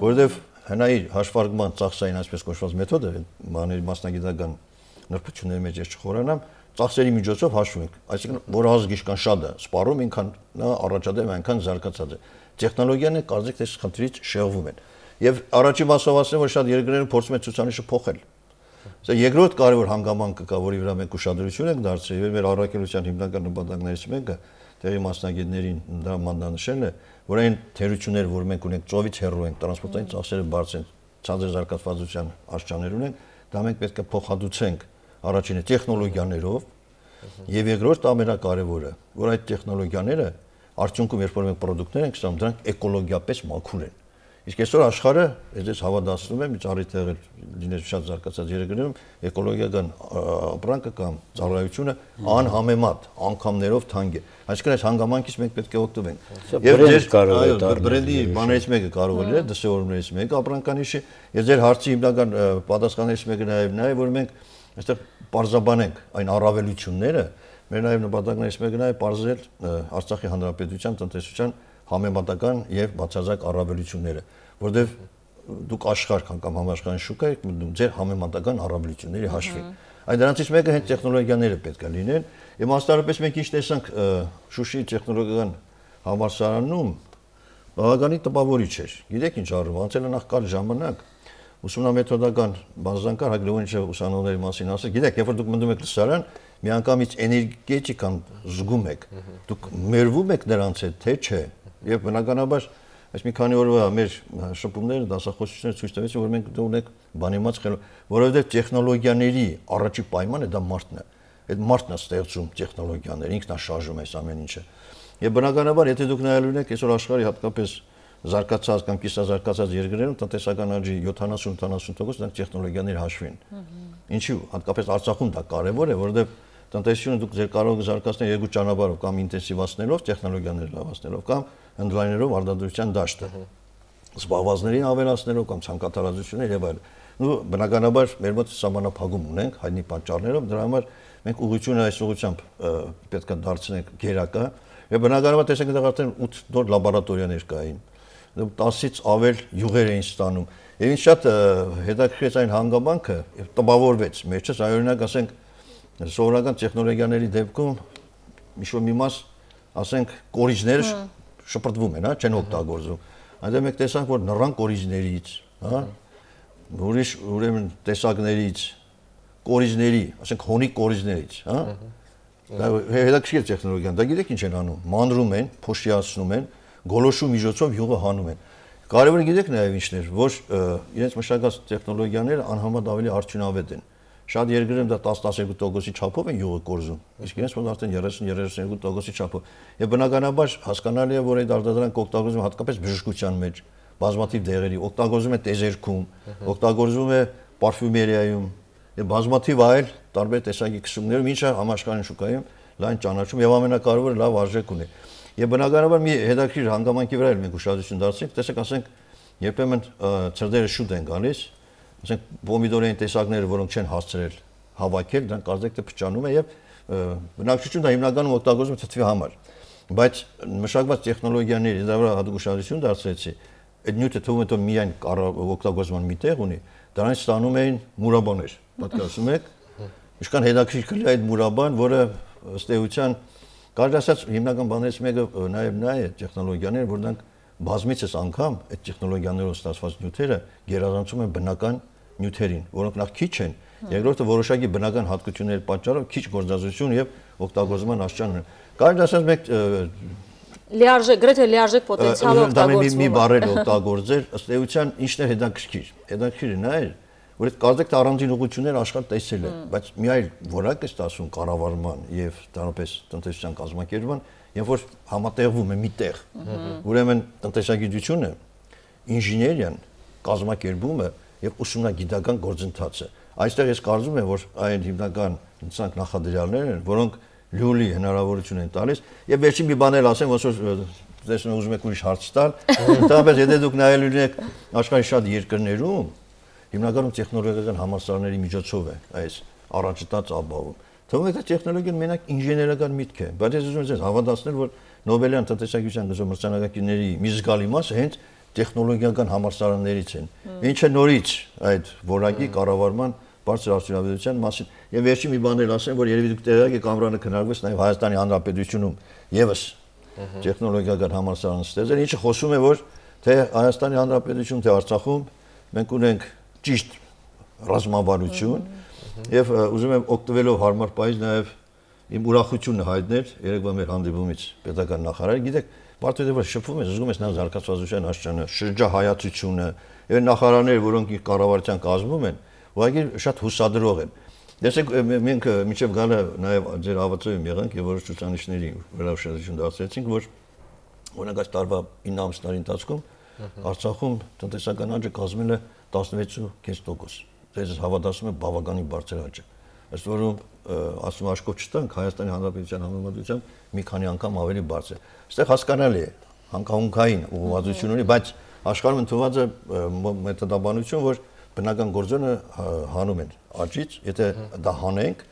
որովհետեւ հնայի հաշվարկման ծախսային այսպես կոչված մեթոդը, մասնագիտական նրբությունների մեջ ես չխորանամ, ծախսերի միջոցով հաշվում ենք, այսինքն որ ազգ ինչքան շատ է սպառում, ինքան նա առաջադեմ այնքան զարգացած է։ Տեխնոլոգիաները կարծեք թե խնդրից շեղվում են։ Եվ առաջին մասով ասեմ, որ շատ երկրները փորձում են ցուցանիշը փոխել։ Սա երկրորդ կարևոր հանգամանքը կա, որի վրա մենք ուշադրություն ենք դարձրել, եւ մեր առաքելության հիմնական նպատակներից մեկը տեղի մասնագետներին դա մանրանշելն է, որ այն թերությունները, որ մենք ունենք ծովից հեռու ենք, տրանսպորտային ծախսերը բարձր են, ցածր զարգացվածության աշխարհներ ունենք, դա մենք պետք է փոխհատուցենք առաջինը տեխնոլոգիաներով եւ երկրորդ ամենակարևորը, որ այդ տեխնոլոգիաները արդյունքում երբ որ մենք ապրանքներ ենք ստանում, դրանք էկոլոգիապես մաքուր են։ Իսկ այսօր աշխարհը, ես հավատացնում եմ, ճարի տեղել լինել շատ զարգացած երկրներում, էկոլոգիական ապրանքը կամ ծառայությունը անհամեմատ անգամներով թանկ է։ Այսինքն այս հանգամանքից մենք պետք է օգտվենք։ Եվ ձեր բրենդի բաներից մեկը կարող է լինել, դրսևորումներից մեկը ապրանքանիշի, եւ ձեր հարցի հիմնական պատասխաններից մեկը նաեւ նա է, որ մենք այստեղ պարզաբանենք այն առավելությունները, մեր նաեւ նպատակներից մեկը նաեւ պարզել Արցախի Հանրապետության տնտեսության համեմատական եւ բացարձակ առավելությունները, որտեղ դուք աշխարհ կամ համաշխարհային շուկա եք մտնում ձեր համեմատական առավելությունների հաշվին։ Այդ դրանցից մեկը հենց տեխնոլոգիաները պետք է լինեն։ Եվ մասնավորապես մենք ինչ տեսանք Շուշի տեխնոլոգիական համալսարանում, բավականին տպավորիչ էր։ Գիտեք ինչ առում, անցել է նախ կար ժամանակ ուսումնամեթոդական բազանկար Հագրիվոնիչը ուսանողների մասին ասել, գիտեք, երբ որ դուք մտնում եք լսարան, միանգամից էներգետիկան զգում եք, դուք մերվում եք նրանց հետ, թե չէ։ Եվ բնականաբար այս մի քանի օրվա մեր շփումները, դասախոսությունները ցույց տվեցին, որ մենք ունենք բանիմաց խելոք, որովհետև տեխնոլոգիաների առաջի պայմանը դա մարդն է։ Այդ մարդն է ստեղծում տեխնոլոգիաները, ինքն է շարժում այս ամեն ինչը։ Եվ բնականաբար, եթե դուք նայելու եք այսօր աշխարհի հատկապես զարգացած կամ կիսազարգացած երկրներում տնտեսական աճի 70-80% դրանք տեխնոլոգիաների հաշվին։ Ինչու՞, հատկապես Արցախում դա կարևոր է, որովհետև տնտեսությունը դուք ձեր կարող եք զարգացնել երկու ճանապարհով, կամ ինտենսիվացնելով տեխնոլոգիաները լավացնելով, կամ ընդլայնելով արտադրության դաշտը, զբաղվածներին ավելացնելով կամ ցանկատարածություններ եւ այլն։ Ու բնականաբար մեր մոտ սահմանափակում ունենք հայտնի պատճառներով, դրա համար մենք ուղղությունը այս ուղղությամբ պետք է դարձնենք գերակա։ Եվ բնականաբար տեսեք դեռ արդեն 8 նոր լաբորատորիաներ կային։ 10-ից ավել յուղեր էին ստանում։ Եվ ինձ շատ հետաքրքրեց այն հանգամանքը, եւ տպավորվեց մեջս, օրինակ ասենք սովորական տեխնոլոգիաների դեպքում մի մաս, ասենք, կորիզները շպրտվում են, հա, չեն օգտագործվում։ Այնտեղ մենք տեսանք, որ նռան կորիզներից, հա, ուրիշ ուրեմն տեսակներից, կորիզների, ասենք հոնի կորիզներից, հա, դա հետաքրքիր տեխնոլոգիան, դա գիտեք ինչ են անում, մանրում են, փոշիացնում են, գոլոշու միջոցով յուղը հանում են։ Կարևորը գիտեք նաև ինչն էր, որ իրենց մշակած տեխնոլոգիաները անհամեմատ ավելի արդյունավետ են։ Շատ երկրներում դա 10-12%-ի չափով են յուղը կորզում, իսկ իրենց մոտ արդեն 30-32%-ի չափով։ Եվ բնականաբար հասկանալի է, որ այդ արտադրանքը օգտագործվում է հատկապես բժշկության մեջ, բազմաթիվ դեղերի, օգտագործվում է տեզերքում, օգտագործվում է պարֆյումերիայում եւ բազմաթիվ այլ տարբեր տեսակի քսումներով, ինչը համաշխարհային շուկայում լայն ճանաչում եւ ամենակարևորը լավ արժեք ունի։ Եվ բնականաբար մի հետաքրքիր հանգամանքի վրա էլ մենք ուշադրություն դարձրինք, տեսեք, ասենք, երբեմն ծրդերը շուտ են գալիս, ասենք պոմիդորային տեսակները, որոնք չեն հասցրել հավաքել, դրանք կարծեք թե փչանում է եւ բնակչությունը հիմնականում օգտագործում է թթվի համար։ Բայց մշակված տեխնոլոգիաների դա վրա հատուկ ուշադրություն դարձրեցի, այդ նյութը թվում է թե միայն օգտագործման մի տեղ ունի, դրանից ստանում էին մուրաբաներ, պատկերացնում եք, ինչքան հետաքրքիր է այդ մուրաբան, որը ըստ էության կարելի ասած հիմնական բաներից մեկը նաև նա է տեխնոլոգիաները, որ դրանք բազմիցս անգամ այդ տեխնոլոգիաներով ստացված նյութերը գերազանցում են բնական նյութերին, որոնք նախ քիչ են, երկրորդը որոշակի բնական հատկությունների պատճառով քիչ գործազրկություն եւ օգտագործման աստիճան ունեն։ Կարելի ասած մեկ լիարժեք, գրեթե լիարժեք պոտենցիալ օգտագործվում։ Մի բառեր օգտագործել, ըստ էության ինչն է հետաքրքիր։ Հետաքրքիրը նա է, որ այդ կարծեք թե առանձին ուղղություններ աշխարհ տեսել է, բայց մի այլ որակ է ստացվում կառավարման եւ դրանպես տնտեսության կազմակերպման, երբ որ համատեղվում է միտեղ։ Ուրեմն տնտեսագիտությունը, ինժեներիան, կազմակերպումը եւ ուսումնագիտական գործընթացը։ Այստեղ ես կարծում եմ, որ այն հիմնական ցանկ նախադրյալներն են, որոնք լյոլի հնարավորություն են տալիս եւ վերջին մի բան էլ ասեմ, ոնց որ տեսնում ուզում եք ուրիշ հարց տալ, ընդհանրապես եթե դուք նայելու եք աշխարհի շատ երկրներում հիմնականում տեխնոլոգիական համալսարանների միջոցով է այս առաջընթաց ապահովում։ Թվում է թե տեխնոլոգիան մենակ ինժեներական միտք է, բայց ես ուզում եմ ձեզ հավատացնել, որ Նոբելյան տնտեսագիտության գծով մրցանակակիրների մի զգալի մասը հենց տեխնոլոգիական համալսարաններից են։ Ինչը նորից այդ որակի կառավարման բարձր արդյունավետության մասին։ Եվ վերջին մի բան էլ ասեմ, որ երևի դուք տեղյակ եք Ամրանը քննարկվեց նաև Հայաստանի Հանրապետությունում եւս տեխնոլոգիական համալսարան ստեղծել, ինչը խոսում է, որ թե Հայաստանի Հանրապետությունում, թե Արցախում մենք ունենք ճիշտ ռազմավարություն եւ ուզում եմ օգտվելով հարմար պայից նաև իմ ուրախությունը հայտնել երեկվա մեր հանդիպումից պետական նախարարը, գիտեք, պարտադիր որ շփվում ես, զգում ես նա զարգացվածության աստիճանը, շրջահայացությունը եւ նախարարները, որոնք իր կառավարության կազմում են, ուղղակի շատ հուսադրող են։ Տեսեք, մենք մինչև գալը նաև ձեր հավատացում եղանք եւ որոշ ցուցանիշների վրա ուշադրություն դարձրեցինք, որ օրինակ այս տարվա 9 ամսների ընթացքում Արցախում տնտեսական աճը կազմել է 16.5%։ Դες հավատացում եմ բավականին բարձր աճ է։ Ըստ որում ասում աշկով չտանք Հայաստանի Հանրապետության համեմատությամբ մի քանի անգամ ավելի բարձր է։ Այստեղ հասկանալի է, հանգաունքային ուղղվածություն ունի, բայց աշխարհում ընդունված է մեթոդաբանություն, որ բնական գործոնը հանում են աճից, եթե դա հանենք,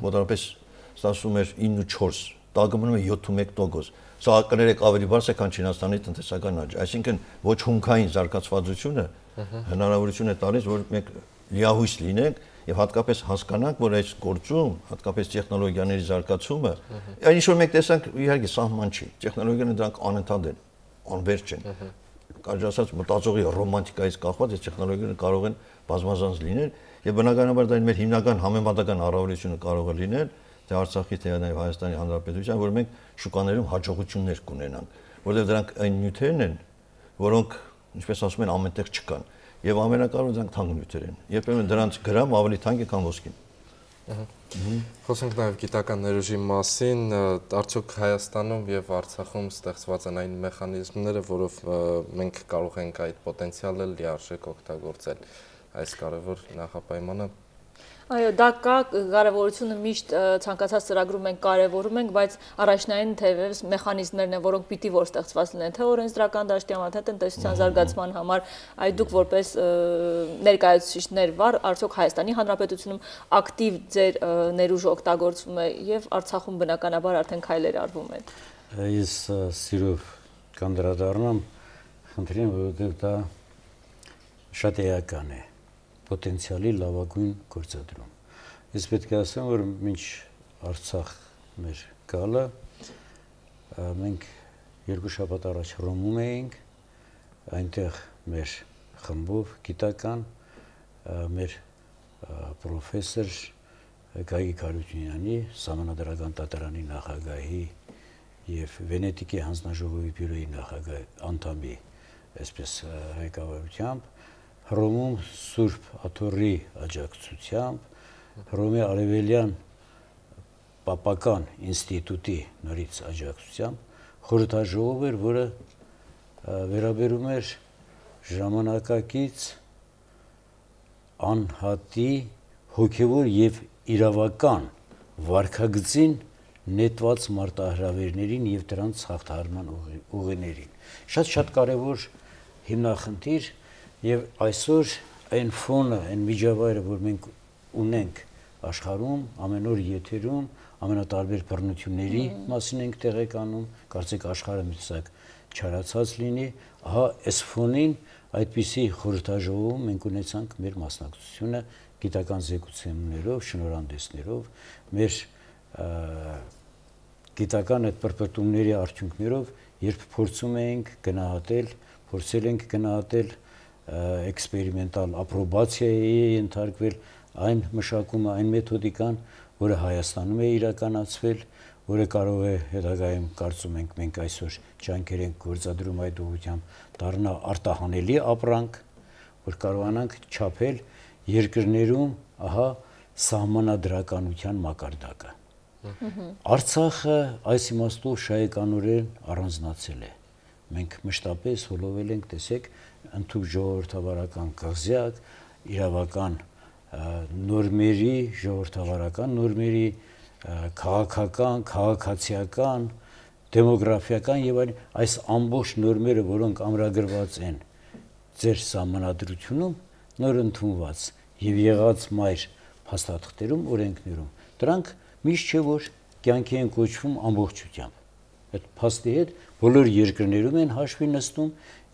մոտավորապես ստացվում էր 9.4, տակը մնում է 7.1%։ Սա կներեք ավելի բարձր է, քան Չինաստանի տնտեսական աճը։ Այսինքն ոչ հումքային զարգացվածությունը հնարավորություն է տալիս, որ մենք լիահույս լինենք եւ հատկապես հասկանանք, որ այս գործում, հատկապես տեխնոլոգիաների զարգացումը, այն ինչ որ մենք տեսանք, իհարկե սահման չի։ Տեխնոլոգիաները դրանք անընդհատ են, անվերջ են։ Կարելի ասած մտածողի ռոմանտիկայից կախված այս տեխնոլոգիաները կարող են բազմազանց լինել եւ բնականաբար դա մեր հիմնական համեմատական առավելությունը կարող է լինել թե Արցախի թե նաեւ Հայաստանի Հանրապետության, որ մենք շուկաներում հաջողություններ կունենանք, որովհետեւ դրանք այն նյութերն են, որոնք, ինչպես ասում են, ամենտեղ չկան եւ ամենակարևորը դրանք թանկ նյութեր են։ Երբեմն դրանց գրամ ավելի թանկ է, քան ոսկին։ Խոսենք նաև գիտական ներուժի մասին, արդյոք Հայաստանում եւ Արցախում ստեղծված են այն մեխանիզմները, որով մենք կարող ենք այդ պոտենցիալը լիարժեք օգտագործել, այս կարևոր նախապայմանը։ Այո, դա կա, կարևորությունը միշտ ցանկացած ծրագրում ենք կարևորում ենք, բայց առաջնային թեւևս մեխանիզմներն են, որոնք պիտի որ ստեղծված լինեն, թե օրենսդրական դաշտի համար, թե տնտեսության զարգացման համար, այդ դուք որպես ներկայացուցիչներ վար, արդյոք Հայաստանի Հանրապետությունում ակտիվ ձեր ներուժը օգտագործվում է եւ Արցախում բնականաբար արդեն քայլեր արվում են։ Ես սիրով կանդրադառնամ, խնդրեմ, որովհետեւ դա շատ էական է։ Պոտենցիալի լավագույն գործադրում։ Ես պետք է ասեմ, որ մինչ Արցախ մեր գալը մենք երկու շաբաթ առաջ Հռոմում էինք, այնտեղ մեր խմբով գիտական մեր պրոֆեսոր Գագիկ Հարությունյանի, Սահմանադրական դատարանի նախագահի եւ Վենետիկի հանձնաժողովի բյուրոյի նախագահի անդամի, այսպես ղեկավարությամբ Հռոմում Սուրբ Աթոռի աջակցությամբ, Հռոմի Արևելյան Պապական ինստիտուտի նորից աջակցությամբ խորհրդաժողով էր, որը վերաբերում էր ժամանակակից անհատի հոգևոր եւ իրավական վարքագծին նետված մարտահրավերներին եւ դրանց հաղթահարման ուղիներին։ Շատ կարեւոր հիմնախնդիր եւ այսօր այն ֆոնը, այն միջավայրը, որ մենք ունենք աշխարհում, ամեն օր եթերում, ամենատարբեր բռնությունների մասին ենք տեղեկանում, կարծեք աշխարհը մի տեսակ չարացած լինի, ահա այս ֆոնին այդպիսի խորհրդաժողովում մենք ունեցանք մեր մասնակցությունը գիտական զեկուցումներով, շնորհանդեսներով, մեր գիտական այդ պրպտումների արդյունքներով, երբ փորձում ենք փորձել ենք գնահատել էքսպերիմենտալ ապրոբացիայի ենթարկվել այն մշակումը, այն մեթոդիկան, որը Հայաստանում է իրականացվել, որը կարող է հետագայում կարծում ենք մենք այսօր ջանքեր ենք գործադրում այդ ուղղությամբ դառնա արտահանելի ապրանք, որ կարողանանք չափել երկրներում ահա սահմանադրականության մակարդակը։ Արցախը այս իմաստով շահեկանորեն առանձնացել է։ Մենք մշտապես հոլովել ենք, տեսեք, ընդհանուր ժողովրդավարական կղզյակ, իրավական նորմերի, ժողովրդավարական նորմերի, քաղաքական, քաղաքացիական, դեմոգրաֆիական եւ այլ այս ամբողջ նորմերը, որոնք ամրագրված են ձեր սահմանադրությունում, նոր ընդունված եւ եղած մայր փաստաթղթերում, օրենքներում, դրանք միշտ չէ որ կյանքի են կոչվում ամբողջությամբ։ Այդ փաստի հետ բոլոր երկրներում են հաշվի նստում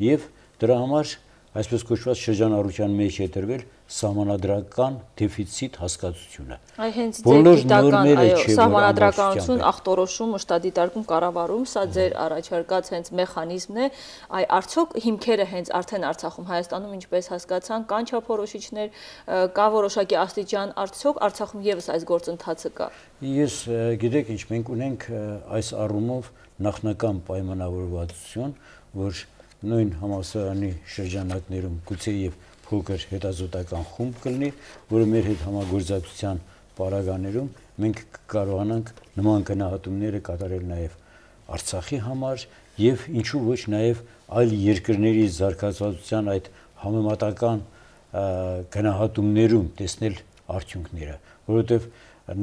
եւ դրա համար այսպես կոչված շրջանառության մեջ է դրվել սահմանադրական դեֆիցիտ հասկացությունը։ Այ հենց ձեր գիտական, սահմանադրականություն, ախտորոշում, մշտադիտարկում, կառավարում, սա ձեր առաջարկած հենց մեխանիզմն է, այ արդյոք հիմքերը հենց արդեն Արցախում, Հայաստանում, ինչպես հասկացան, կան չափորոշիչներ, կա որոշակի աստիճան, արդյոք Արցախում եւս այս գործընթացը կա։ Ես գիտեք ինչ, մենք ունենք այս առումով նախնական պայմանավորվածություն, որ նույն համալսարանի շրջանակներում գուցե եւ փոքր հետազոտական խումբ կլինի, որը մեր հետ համագործակցության պարագաներում մենք կարողանանք նման գնահատումները կատարել նաեւ Արցախի համար եւ ինչու ոչ նաեւ այլ երկրների զարգացվածության այդ համեմատական գնահատումներում տեսնել արդյունքները, որովհետեւ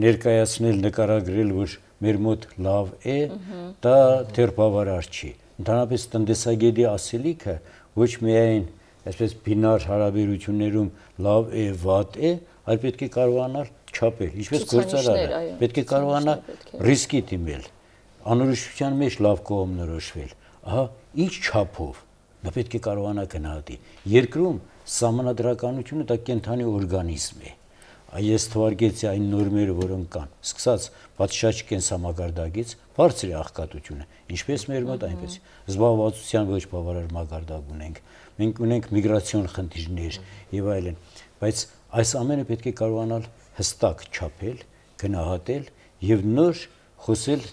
ներկայացնել, նկարագրել, որ մեր մոտ լավ է, դա դեռ բավարար չի։ Ընդհանրապես տնտեսագետի ասելիքը ոչ միայն այսպես բինար հարաբերություններում լավ է, վատ է, այլ պետք է կարողանալ չափել, ինչպես գործարանը, պետք է կարողանա ռիսկի դիմել, անորոշության մեջ լավ կողմնորոշվել, ահա ինչ չափով, նա պետք է կարողանա գնահատի։ Երկրում սահմանադրականությունը դա կենդանի օրգանիզմ է։ Ես թվարկեցի այն նորմերը, որոնք կան, սկսած պատշաճ կենսամակարդակից, բարձր է աղքատությունը, ինչպես մեր մոտ, այնպես զբաղվածության ոչ բավարար մակարդակ ունենք, մենք ունենք միգրացիոն խնդիրներ եւ այլն, բայց այս ամենը պետք է կարողանալ հստակ չափել, գնահատել եւ նոր խոսել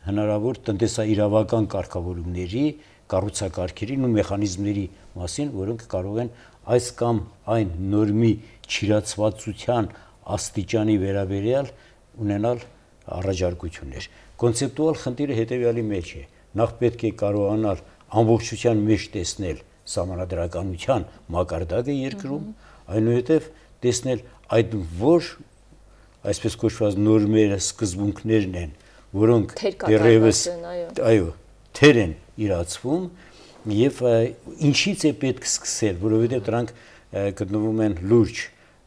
հնարավոր տնտեսաիրավական կարգավորումների, կառուցակարգերին ու մեխանիզմների մասին, որոնք կարող են այս կամ այն նորմի չիրացվածության աստիճանի վերաբերյալ ունենալ առաջարկություններ։ Կոնցեպտուալ խնդիրը հետեւյալի մեջ է. նախ պետք է կարողանալ ամբողջության մեջ տեսնել սահմանադրականության մակարդակը երկրում, այնուհետև տեսնել այդ որ այսպես կոչված նորմերը, սկզբունքներն են, որոնք դեռևս թեր են իրացվում եւ ինչից է պետք սկսել, որովհետեւ դրանք գտնվում են լուրջ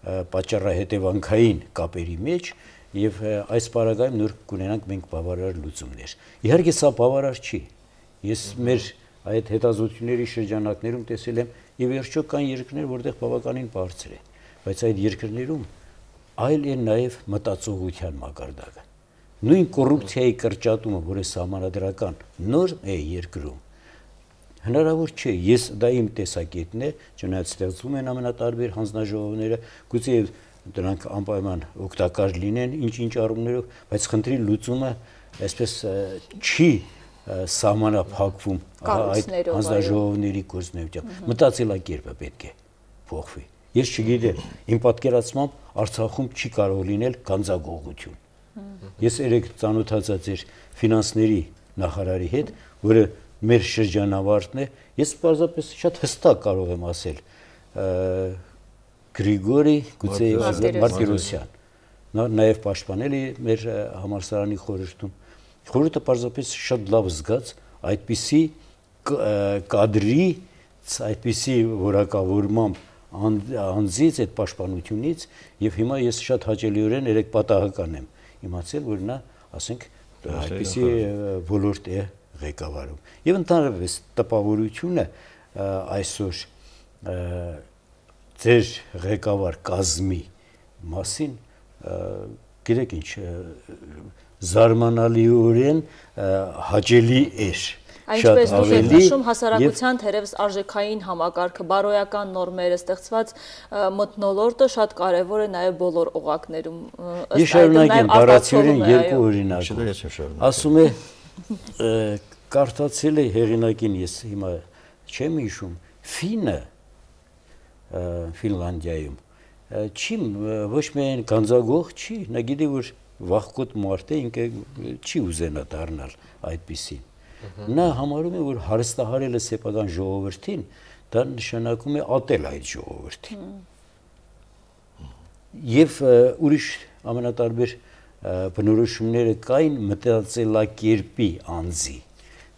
պատճառահետևանքային կապերի մեջ եւ այս պարագայում նոր կունենանք մենք բավարար լուծումներ։ Իհարկե սա բավարար չի։ Ես մեր այդ հետազոտությունների շրջանակներում տեսել եմ եւ վերջո կան երկրներ, որտեղ բավականին բարձր է, բայց այդ երկրներում այլ է նաեւ մտածողության մակարդակը։ Նույն կոռուպցիայի կրճատումը, որը սահմանադրական նորմ է երկրում, հնարավոր չէ, ես դա իմ տեսակետն է, չնայած ստեղծվում են ամենատարբեր հանձնաժողովները, գուցե դրանք անպայման օգտակար լինեն ինչ-ինչ առումներով, բայց խնդրի լուծումը այսպես չի սահմանափակվում այդ հանձնաժողովների գործունեությամբ։ Մտածելակերպը պետք է փոխվի։ Ես չգիտեմ, իմ պատկերացմամբ Արցախում չի կարող լինել գանձագողություն։ Ես երեք ծանոթացա ձեր ֆինանսների նախարարի հետ, որը մեր շրջանավարտն է, ես պարզապես շատ հստակ կարող եմ ասել, Գրիգորի Մարտիրոսյան։ Նա նաև պաշտպանել է մեր համալսարանի խորհրդում։ Խորհուրդը պարզապես շատ լավ զգաց այդպիսի կադրի, այդպիսի որակավորմամբ անձից, այդ պաշտպանությունից, եւ հիմա ես շատ հաճելիորեն երեք պատահական եմ իմացել, որ նա, ասենք, այդպիսի ոլորտ է ղեկավարում։ Եվ ընդհանրապես տպավորությունը այսօր ձեր ղեկավար կազմի մասին գիտեք ինչ զարմանալիորեն հաճելի էր։ Այնպես դուք եք նշում հասարակության թերևս արժեքային համակարգը, բարոյական նորմերը, ստեղծված մթնոլորտը շատ կարևոր է նաև բոլոր օղակներում։ Ես շարունակեմ բառացիորեն երկու օրինակ։ Ասում է կարդացել է հեղինակին, ես հիմա չեմ հիշում, ֆինը Ֆինլանդիայում չի ոչ միայն գանձագող չի, նա գիտի որ վախկոտ մարդ է, ինքը չի ուզենա դառնալ այդպիսին։ Նա համարում է, որ հարստահարելը սեփական ժողովրդին, դա նշանակում է ատել այդ ժողովրդին։ Եվ ուրիշ ամենատարբեր բնորոշումները կային մտածելակերպի անձի։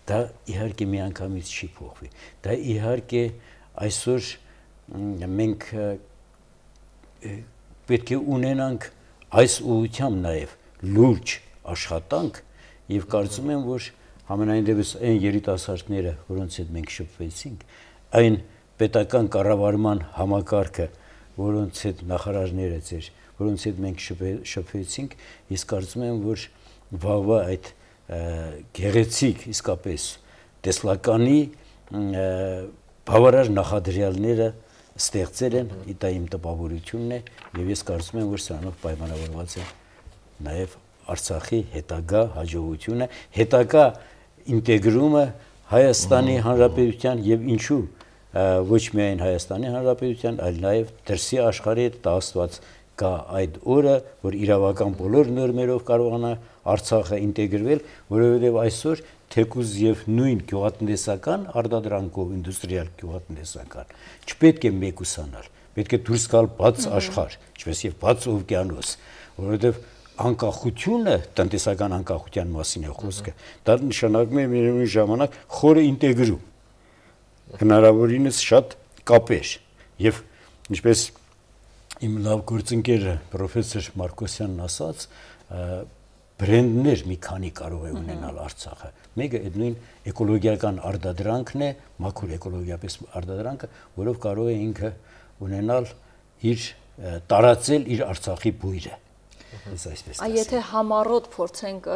Դա իհարկե միանգամից չի փոխվի։ Դա իհարկե այսօր մենք պետք է ունենանք այս ուղղությամբ նաև լուրջ աշխատանք եւ կարծում եմ, որ համենայն դեպս այն երիտասարդները, որոնց հետ մենք շփվեցինք, այն պետական կառավարման համակարգը, որոնց հետ նախարարները ձեր, որոնց հետ մենք շփվեցինք, ես կարծում եմ, որ վաղվա այդ գեղեցիկ իսկապես տեսլականի բավարար նախադրյալները ստեղծել են, դա իմ տպավորությունն է, եւ ես կարծում եմ, որ սրանով պայմանավորված է նաեւ Արցախի հետագա հաջողությունը, հետագա ինտեգրումը Հայաստանի Հանրապետության եւ ինչու ոչ միայն Հայաստանի Հանրապետության, այլ նաեւ դրսի աշխարհի հետ տասված կա այդ օրը, որ իրավական բոլոր նորմերով կարողանա Արցախը ինտեգրվել, որովհետեւ այսօր թեկուզ եւ նույն գյուղատնտեսական արտադրանքով ինդուստրիալ գյուղատնտեսական չպետք է մեկուսանալ, պետք է դուրս գալ բաց աշխարհ, ինչպես եւ բաց օվկիանոս, որովհետեւ անկախությունը տնտեսական անկախության մասին է խոսքը, դա նշանակում է միևնույն ժամանակ խորը ինտեգրում, հնարավորինս շատ կապեր եւ ինչպես իմ լավ գործընկերը պրոֆեսոր Մարկոսյանն ասաց, բրենդներ մի քանի կարող է ունենալ Արցախը։ Մեկը այդ նույն էկոլոգիական արտադրանքն է, մաքուր էկոլոգիապես արտադրանքը, որով կարող է ինքը ունենալ իր տարածել իր Արցախի բույրը։ Եթե համառոտ փորձենք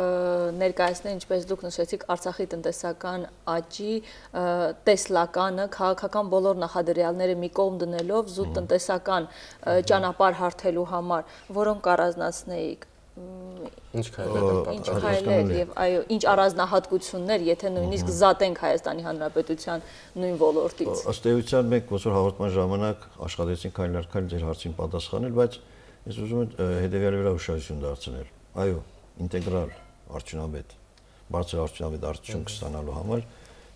ներկայացնել, ինչպես դուք նշեցիք, Արցախի տնտեսական աճի տեսլականը, քաղաքական բոլոր նախադրյալները մի կողմ դնելով զուտ տնտեսական ճանապարհ հարթելու համար, որոնք առանձնացնեիք Ինչ քայլեր եւ այո, ինչ առանձնահատկություններ, եթե նույնիսկ զատենք Հայաստանի Հանրապետության նույն ոլորտից։ Ըստ էության մենք ոնց որ հաղորդման ժամանակ աշխատեցինք քայլ ձեր հարցին պատասխանել, բայց ես ուզում եմ հետեւյալի վրա ուշադրություն դարձնել։ Այո, ինտեգրալ արդյունավետ, բարձր արդյունավետ արդյունք ստանալու համար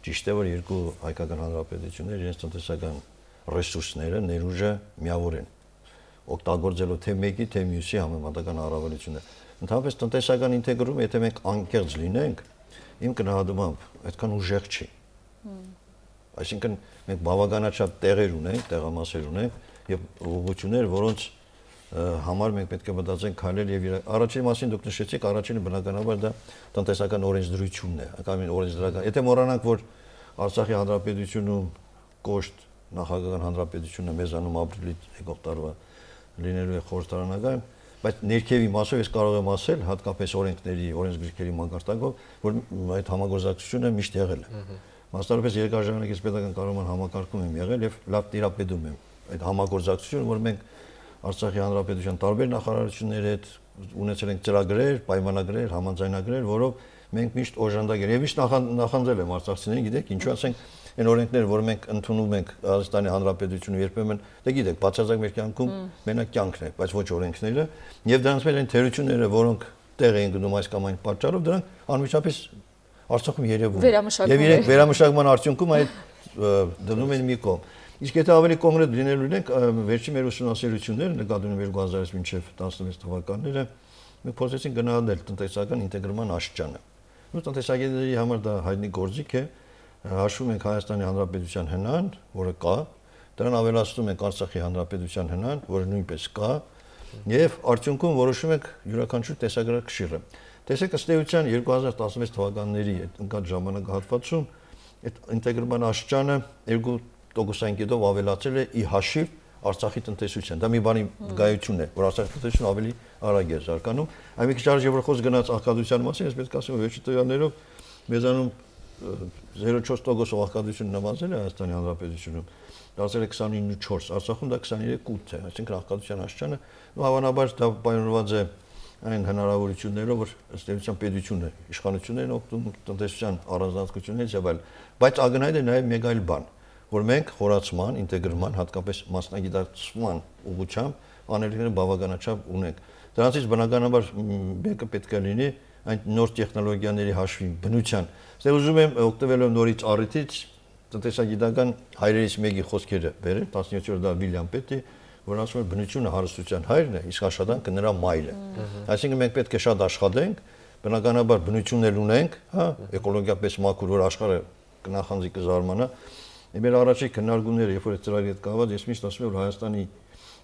ճիշտ է, որ երկու հայկական հանրապետություններ իրենց տնտեսական ռեսուրսները, ներուժը միավորեն, օգտագործելով թե մեկի, թե մյուսի համեմատական առավելությունը։ Ընդհանրապես տնտեսական ինտեգրումը, եթե մենք անկեղծ լինենք, իմ գնահատմամբ այդքան ուժեղ չի։ Այսինքն մենք բավականաչափ տեղեր ունենք, տեղամասեր ունենք եւ ուղղություններ, որոնց համար մենք պետք է մտածենք քայլել եւ առաջին մասին դուք նշեցիք, առաջինը բնականաբար դա տնտեսական օրենսդրությունն է, ակամին օրենսդրական։ Եթե մոռանանք, որ Արցախի հանրապետությունում կոշտ նախագահական հանրապետությունը մեզանում ապրիլի եկող տարվա լինելու է խորհրդարանական, բայց ներքևի մասով ես կարող եմ ասել, հատկապես օրենքների, օրենսգրքերի մակարդակով, որ այդ համագործակցությունը միշտ եղել է։ Մասնավորապես երկար ժամանակ ես պետական կառավարման համակարգում եմ եղել եւ լավ տիրապետում եմ այդ համագործակցությունը, որ մենք Արցախի հանրապետության տարբեր նախարարությունների հետ ունեցել ենք ծրագրեր, պայմանագրեր, համաձայնագրեր, որով մենք միշտ օժանդակել եւ միշտ նախանձել եմ արցախցիներին, գիտեք, ինչու ասենք այն օրենքները, որ մենք ընդունում ենք Հայաստանի Հանրապետությունը երբեմն, դե գիտեք, բացարձակ մեր կյանքում մենակ կյանքն է, բայց ոչ օրենքները, եւ դրանց մեջ այն թերությունները, որոնք տեղ էին գնում այս կամ այն պատճառով, դրանք անմիջապես Արցախում երևում են։ Եվ իրենք վերամշակման արդյունքում այդ դնում են մի կողմ։ Իսկ եթե ավելի կոնկրետ լինելու ենք, վերջի մեր ուսումնասիրությունները նկատի ունեն 2000-ից մինչև 16 թվականները, մենք փորձեցինք գնահատել տնտեսական ինտեգրման աստիճանը։ Ու տնտեսագետների համար դա հայտնի գործիք է, հաշվում ենք Հայաստանի Հանրապետության հնան, որը կա, դրան ավելացնում ենք Արցախի Հանրապետության հնան, որը նույնպես կա, եւ արդյունքում որոշում ենք յուրաքանչյուր տեսագրակշիռը։ Տեսեք, ըստ էության 2016 թվականների ընկած ժամանակահատվածում այդ ինտեգրման աստիճանը 2%-ով ավելացել է ի հաշիվ Արցախի տնտեսության։ Դա մի բանի գայություն է, որ Արցախի տնտեսությունը ավելի արագ է զարգանում։ Այն մի քիչ արժե որ խոսք գնաց աղքատության մասին, ես պետք է ասեմ, վերջի տվյալներով մեզանում 0.4% աղքատություն նվազել է Հայաստանի Հանրապետությունում, դարձել է 29.4, Արցախում դա 23.8 է, այսինքն աղքատության աստիճանը հավանաբար դա պայմանավորված է այն հնարավորություններով, որ ըստ էության պետությունը, իշխանություններն օգտվում տնտեսության առանձնահատկություններից եւ այլ, բայց ակնհայտ է նաեւ մեկ այլ բան, որ մենք խորացման, ինտեգրման, հատկապես մասնագիտացման ուղղությամբ անելիքները բավականաչափ ունենք։ Դրանցից բնականաբար մեկը պետք է լինի այն նոր տեխնոլոգիաների հաշվի բնության։ Ստեղ ուզում եմ օգտվելով նորից առիթից տնտեսագիտական հայրերից մեկի խոսքերը բերել, 17-րդ դար Վիլյամ Պետի, որ ասում է բնությունը հարստության հայրն է, իսկ աշխատանքը նրա մայրը։ Այսինքն մենք պետք է շատ աշխատենք, բնականաբար բնություններ ունենք, հա, էկոլոգիապես մաքուր, որ աշխարհը կնախանձի կզարմանա։ Մեր առաջի քննարկումները, երբ որ այդ ծրագիրը կաված, ես միշտ ասում եմ, որ Հայաստանի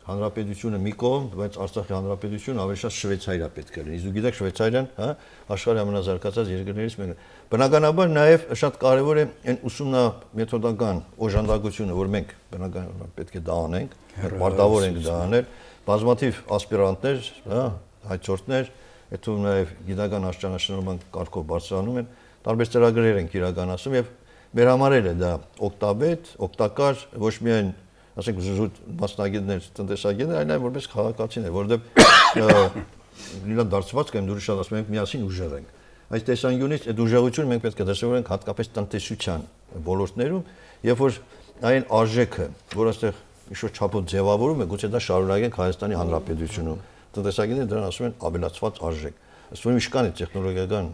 Հանրապետությունը մի կողմ, բայց Արցախի Հանրապետությունը ավելի շատ Շվեյցարիա պետք է լինի։ Իսկ դուք գիտեք Շվեյցարիան, հա, աշխարհի ամենազարգացած երկրներից մեկն է։ Բնականաբար նաև շատ կարևոր է այն ուսումնամեթոդական օժանդակությունը, որ մենք բնականաբար պետք է դա անենք, պարտավոր ենք դա անել, բազմաթիվ ասպիրանտներ, հա, հայցորդներ, հետո նաև գիտական աստիճանաշնորհման կարգով բարձրանում են, տարբեր ծրագրեր են իրականացում եւ մեր համար էլ է դա օգտավետ, օգտակար ոչ միայն ասենք զուտ մասնագետներ, տնտեսագետներ, այլ նաև որպես քաղաքացիներ, որովհետեւ լիլա դարձվածք եմ դուրս շատ ասում ենք միասին ուժեղ ենք։ Այս տեսանկյունից այդ ուժեղությունը մենք պետք է դրսևորենք հատկապես տնտեսության ոլորտներում, երբ որ այն արժեքը, որ այստեղ ինչ-որ չափով ձևավորում է, գուցե դա շարունակենք Հայաստանի Հանրապետությունում։ Տնտեսագետները դրան ասում են ավելացված արժեք։ Ըստ որի ինչքան է տեխնոլոգիական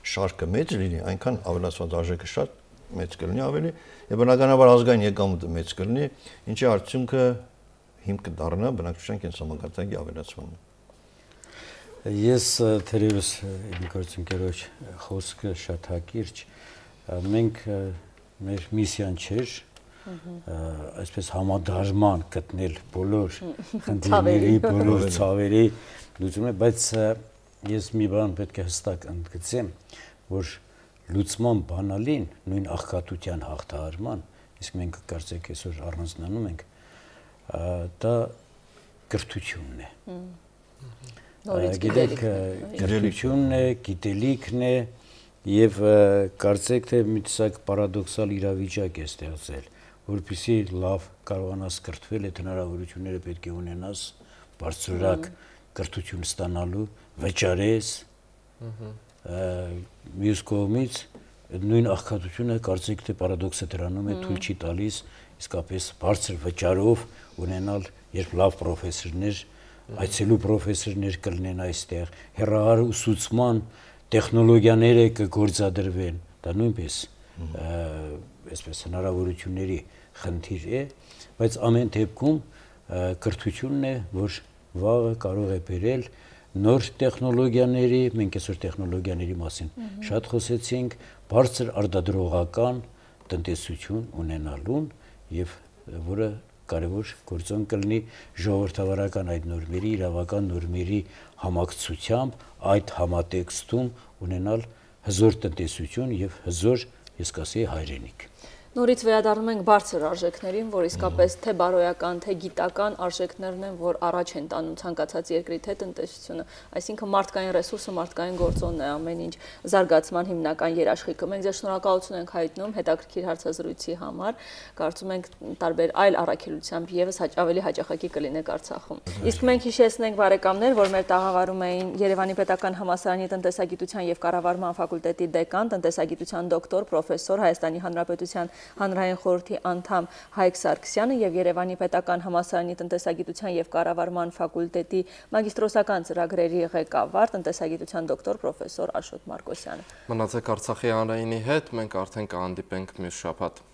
շարքը մեծ լինի, այնքան ավելացված արժեքը շատ մեծ կլինի ավելի, եւ բնականաբար ազգային եկամուտը մեծ կլինի, ինչի արդյունքը հիմք կդառնա բնակչության կենսամակարդակի ավելացմանը։ Ես թերևս իմ գործընկերոջ խոսքը շատ հակիրճ, մենք մեր միսիան չէր այսպես համադարման գտնել բոլոր խնդիրների, բոլոր ցավերի լուծումը, բայց ես մի բան պետք է հստակ ընդգծեմ, որ լուծման բանալին, նույն աղքատության հաղթահարման, իսկ մենք կարծեք այսօր առանձնանում ենք, դա կրթությունն է։ Գիտեք, կրթությունն է, գիտելիքն է եւ կարծեք թե մի տեսակ պարադոքսալ իրավիճակ է ստեղծել, որպեսզի լավ կարողանաս կրթվել, այդ հնարավորությունները պետք է ունենաս բարձրորակ կրթություն ստանալու, վճարես, մյուս կողմից նույն աղքատությունը կարծեք թե պարադոքսը դրանում է թույլ չի տալիս իսկապես բարձր վճարով ունենալ, երբ լավ պրոֆեսորներ, այցելու պրոֆեսորներ կլինեն այստեղ, հեռահար ուսուցման տեխնոլոգիաները կգործադրվեն, դա նույնպես այսպես հնարավորությունների խնդիր է, բայց ամեն դեպքում կրթությունն է, որ վաղը կարող է բերել նոր տեխնոլոգիաների, մենք այսօր տեխնոլոգիաների մասին շատ խոսեցինք, բարձր արտադրողական տնտեսություն ունենալուն եւ որը կարևոր գործոն կլինի ժողովրդավարական այդ նորմերի, իրավական նորմերի համակցությամբ այդ համատեքստում ունենալ հզոր տնտեսություն եւ հզոր, ես կասեի, հայրենիք։ Նորից վերադառնում ենք բարձր արժեքներին, որ իսկապես թե բարոյական, թե գիտական արժեքներն են, որ առաջ են տանում ցանկացած երկրի թե տնտեսությունը, այսինքն մարդկային ռեսուրսը, մարդկային գործոնն է ամեն ինչ զարգացման հիմնական երաշխիքը։ Մենք ձեզ շնորհակալություն ենք հայտնում հետաքրքիր հարցազրույցի համար, կարծում ենք տարբեր այլ առաքելությամբ եւս ավելի հաճախակի կլինեք Արցախում։ Իսկ մենք հիշեցնենք բարեկամներ, որ մեր տաղավարում էին Երևանի Պետական Համալսարանի տնտեսագիտության եւ կառավարման ֆակուլտետի դեկան, տնտեսագիտության դոկտոր, պրոֆեսոր, Հայաստանի Հանրապետության Հանրային խորհրդի անդամ Հայկ Սարգսյանը եւ Երևանի Պետական Համալսարանի տնտեսագիտության եւ կառավարման ֆակուլտետի մագիստրոսական ծրագրերի ղեկավար, տնտեսագիտության դոկտոր, պրոֆեսոր Աշոտ Մարկոսյանը։ Մնացեք Արցախի հանրայինի հետ, մենք արդեն կհանդիպենք մյուս շաբաթ։